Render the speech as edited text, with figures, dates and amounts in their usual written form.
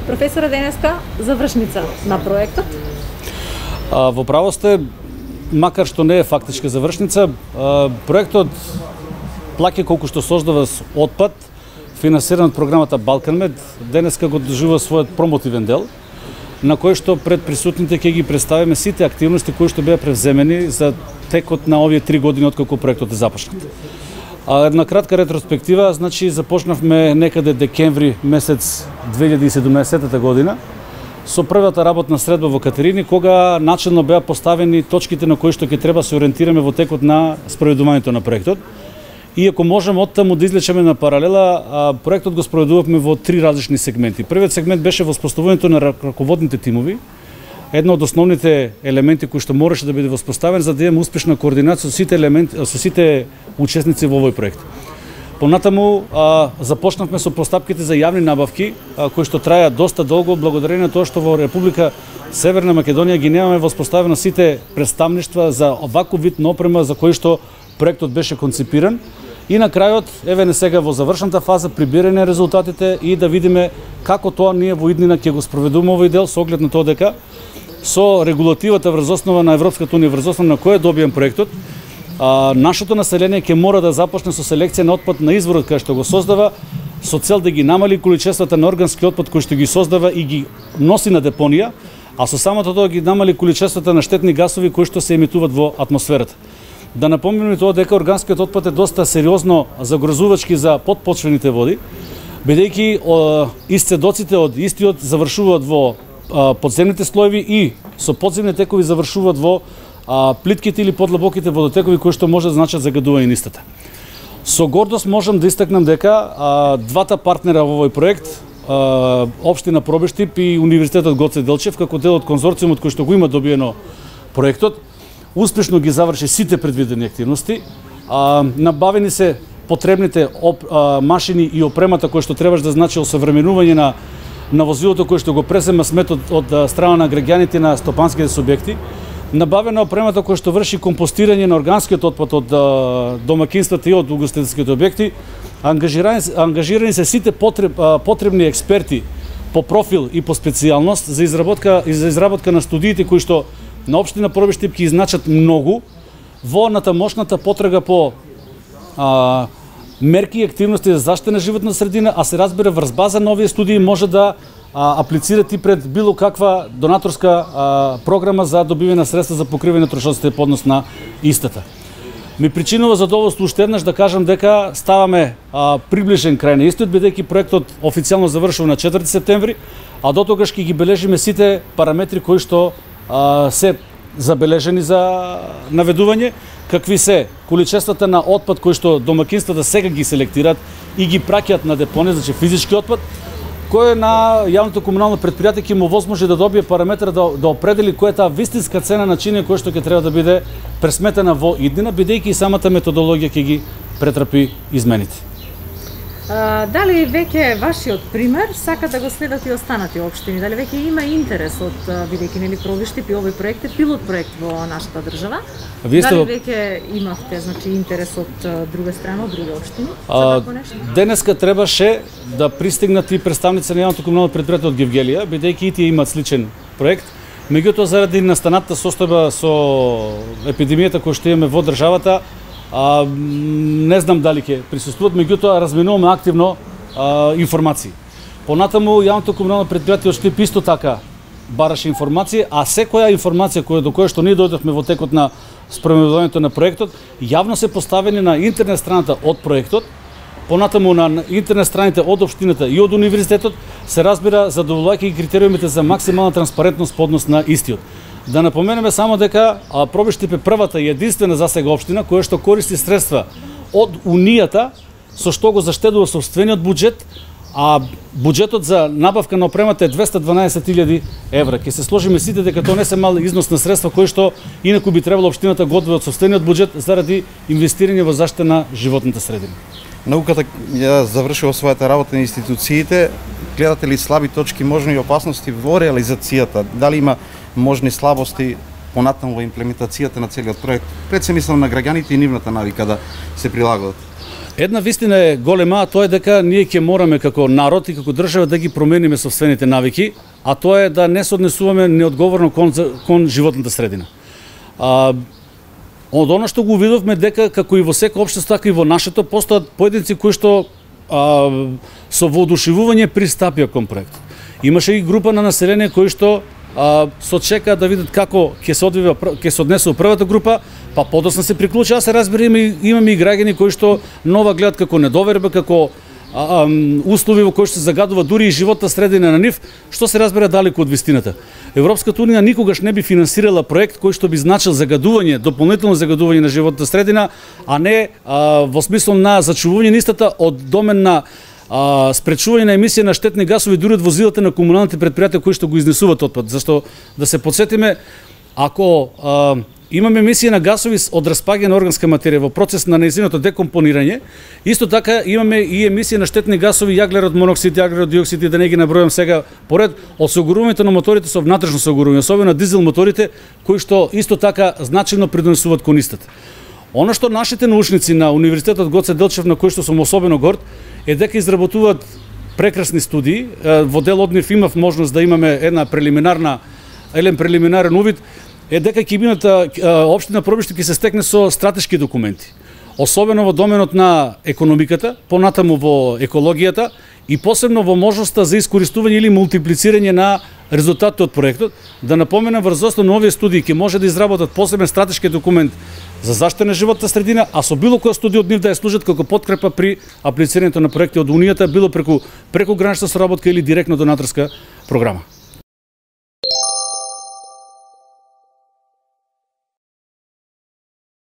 Професоре, денеска завршница на проектот. Во право сте, макар што не е фактичка завршница, проектот плаќа колку што создава отпад, финансиран од програмата Балканмед, денеска го доживува својот промотивен дел, на кој што пред присутните ќе ги представиме сите активности кои што беа превземени за текот на овие 3 години откако проектот е започнат. Една кратка ретроспектива, значи започнавме некаде декември месец 2017 година со првата работна средба во Катерини, кога начелно беа поставени точките на кои што ќе треба се ориентираме во текот на спроведувањето на проектот. И ако можеме оттаму да извлечеме на паралела, проектот го спроведувавме во 3 различни сегменти. Првиот сегмент беше воспоставувањето на раководните тимови, едно од основните елементи кои што мораше да биде воспоставен за да имаме успешна координација со сите учесници во овој проект. Понатаму започнавме со постапките за јавни набавки, кои што траја доста долго, благодарение на тоа што во Република Северна Македонија ги немаме воспоставено сите представништва за оваков вид на опрема за кој што проектот беше концепиран. И на крајот, еве не сега во завршната фаза, прибирање резултатите и да видиме како тоа ние во иднина ќе го спроведуваме овој дел со оглед на тоа дека со регулативата врз основа на Европската унија, врз основа на која добиен проектот, нашето население ќе мора да започне со селекција на отпад на изворот кај што го создава, со цел да ги намали количествата на органски отпад кој што ги создава и ги носи на депонија, а со самото тоа ги намали количествата на штетни гасови кои што се емитуваат во атмосферата. Да напомним тоа дека органскиот отпад е доста сериозно загрозувачки за подпочвените води, бидејќи исцедоците од истиот завршуваат во подземните слоеви и со подземни текови завршуваат во плитките или подлабоките водотекови кои што може да значат загадување на истата. Со гордост можам да истакнам дека двата партнера во овој проект, Општина Пробиштип и Универзитетот Гоце Делчев, како дел од конзорциумот кој што го има добиено проектот, успешно ги заврши сите предвидени активности. Набавени се потребните машини и опремата кои што требаш да значи осовременување на возилото кој што го презема сметот од страна на граѓаните на стопанските субјекти. Набавена опремата која што врши компостирање на органскиот отпад од домакинствата и од угостителските објекти. Ангажирани се сите потребни експерти по профил и по специјалност за изработка на студиите кои што на Општина Пробиштип ќе изначат многу во натамошната потрага по мерки и активности за заштита на животна средина, а се разбира врз база на овие студии може да аплицират и пред било каква донаторска програма за добивање на средства за покривање на трошоците по однос на истата. Ми причинува задоволство уште еднаш да кажам дека ставаме приближен крај на истиот, бидејќи проектот официјално завршува на 4 септември, а до тогаш ќе ги бележиме сите параметри кои што се забележени за наведување, какви се количествата на отпад кои што домакинствата сега ги селектираат и ги праќаат на депонија, значи физички отпад, кој на јавното комунално предпријатие ќе му возможи да добие параметар да определи која е таа вистинска цена на чинија која што ќе треба да биде пресметена во иднина, бидејќи и самата методологија ќе ги претрпи измените. Дали веќе вашиот пример сака да го следат и останати општини? Дали веќе има интерес од, бидејќи нели Пробиштип и овој проект е пилот проект во нашата држава? Дали веќе имавте значи интерес од друга страна, од други општини? Денеска требаше да пристигнат и представници на јавното комунално предпријатие од Гевгелија, бидејќи и тие имаат сличен проект. Меѓутоа заради настанатата состојба со епидемијата која што имаме во државата, не знам дали ќе присуствуват, меѓутоа разменуваме активно информации. Понатаму јавното комунално предпријатие од Штип исто така бараше информација, а секоја информација до која што ние дојдовме во текот на спроведувањето на проектот, јавно се поставени на интернет страната од проектот, понатаму на интернет страните од општината и од универзитетот, се разбира задоволувајќи критериумите за максимална транспарентност по однос на истиот. Да напоменеме само дека Пробиштип е првата и единствена засега општина која што користи средства од Унијата, со што го заштедува сопствениот буџет, а буџетот за набавка на опремата е 212.000 евра. Ке се сложиме сите дека тоа не се мал износ на средства кои што инаку би требало општината го одвои од сопствениот буџет заради инвестирање во заштита на животната средина. Науката ја завршила својата работа на институциите. Гледате ли слаби точки, можни и опасности во реализацијата? Дали има можни слабости понатаму во имплементацијата на целиот проект? Пред се мислам на граѓаните и нивната навика да се прилагодат. Една вистина е голема, а тоа е дека ние ќе мораме како народ и како држава да ги промениме сопствените навики, а тоа е да не се однесуваме неодговорно кон животната средина. Од оно што го видовме дека како и во секој општество, така и во нашето постојат поединци кои што со воодушевување пристапија кон проектот. Имаше и група на население кои што со чека да видат како ќе се однесува првата група, па подоцна се приклучи. Се разбира, имаме и граѓани кои што нова гледат како недоверба, како услови во кои што се загадува дури и животна средина на нив, што се разбира далеку од вистината. Европската унија никогаш не би финансирала проект кој што би значил загадување, дополнително загадување на животната средина, а не во смисло на зачувување на истата од домен на спречување на емисија на штетни гасови дури од возилата на комуналните предпријатија кои што го изнесуваат отпад. Зашто да се подсетиме, ако имаме емисија на гасови од распаѓање на органска материја во процес на нејзиното декомпонирање, исто така имаме и емисија на штетни гасови, јаглерод моноксид, јаглерод диоксид, и да не ги набројам сега поред, од соогорувањето на моторите со внатрешно соогорување, особено дизел моторите, кои што исто така значајно придонесуваат кон истата. Оно што нашите научници на Универзитетот Гоце Делчев, на кој што сум особено горд, е дека изработуваат прекрасни студии. Во дел од нив имав можност да имаме еден прелиминарен увид, е дека ќе бината општина Пробиште ќе се стекне со стратешки документи, особено во доменот на економиката, понатаму во екологијата и посебно во можноста за искористување или мултиплицирање на резултатите од проектот. Да напоменам, врз основа на овие студии ќе може да изработат посебен стратешки документ за заштита на животната средина, а со било која студија од нив да ја служат како подкрепа при аплицирањето на проекти од Унијата, било преку гранична соработка или директно донаторска програма.